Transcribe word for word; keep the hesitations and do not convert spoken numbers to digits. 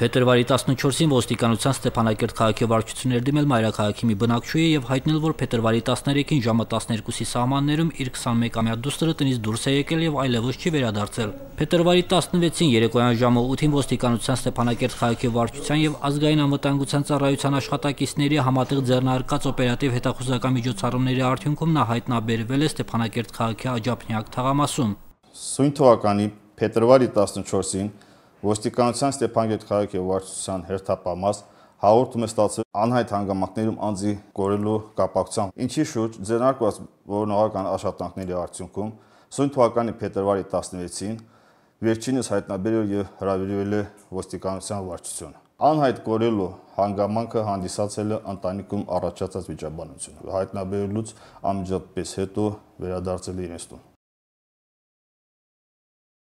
Փետրվարի տասնչորսին ոստիկանության Ստեփանակերտ քաղաքի վարչությունն էր դիմել մայրաքաղաքի մի բնակչուհի եւ հայտնել, որ փետրվարի տասներեքին ժամը տասներկուսի սահմաններում իր քսանմեկամյա դուստրը տնից դուրս է եկել եւ այլևս չի վերադարձել։ Փետրվարի տասնվեցին երեկոյան ժամը ութին ոստիկանության Ստեփանակերտ քաղաքի վարչության եւ ազգային անվտանգության ծառայության աշխատակիցների համատեղ ձեռնարկած օպերատիվ հետախուզական միջոցառումների արդյունքում նա հայտնաբերվել է Ստեփանակերտ քաղաքի Աջափնյակ թաղամասում։ Սույն թվականի փետրվարի տասնչորսին ոստիկանության Ստեփանակերտ քաղաքի վարչության հերթապահ հաղորդում է ստացել անհայտ հանգամանքներում անձի կորելու կապակցությամբ, ինչի շուրջ ձեռնարկված որոնողական աշխատանքների արդյունքում սույն թվականի փետրվարի տասնվեցին վերջինս հայտնաբերել եւ հրավիրվել է ոստիկանության վարչություն։ Անհայտ կորելու հանգամանքը հանդիսացել է ընտանիքում առաջացած վիճաբանություն։ Հայտնաբերելուց անմիջապես հետո վերադարձել է իրենց տուն։